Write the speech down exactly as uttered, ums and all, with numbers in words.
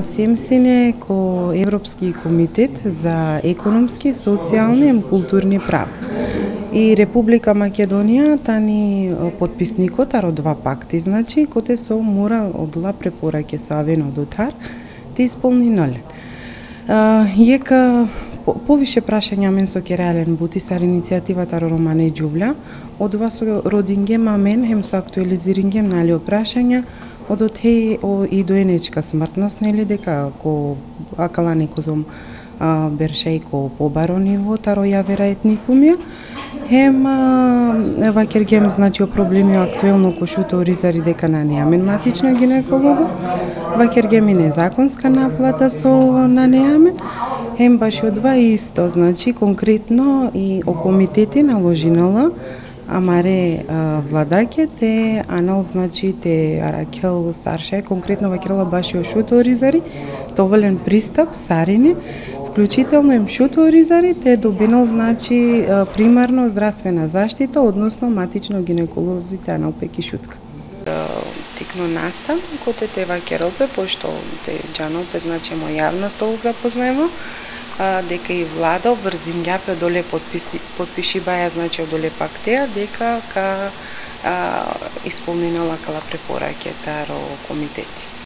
Семсине ко Европски комитет за економски, социјални и културни права. И Република Македонија тани подписникот аро два пакти, значи, коте со мора одла препораќе со авено дотар да исполни нолен. Јека повише прашања мен со Керален Бутисар иницијативата Романе Џубља, од вас со родингема мен, хем со актуализирингем нали прашања, од отеј и доенечка смртност, нели дека ко акала некозом бершеј ко побаро ниво, таро јавера етникумија, хем вакергем значи о проблеми актуелно ко шуто ризари дека на неамен матично гинеколого, вакергем и незаконска наплата со на неамен, хем баш од два исто, значи конкретно и о комитети наложинала амаре владаке те анал значи те аракел старше конкретно вакерала баш и о шуто ризари, доволен пристап сарине, вклучително им шуто ризари те добинал значи примарно здравствена заштита, односно матично гинеколозите анал пеки шутка. Тикно настан, коте те вакералпе, пошто те джаналпе, значи мо јавност ovo запознаемо, дека и влада обрзингјапе доле подписи, подпиши баја, значи одоле пак теа, дека ка а, исполнинала кала препораќе таро комитети.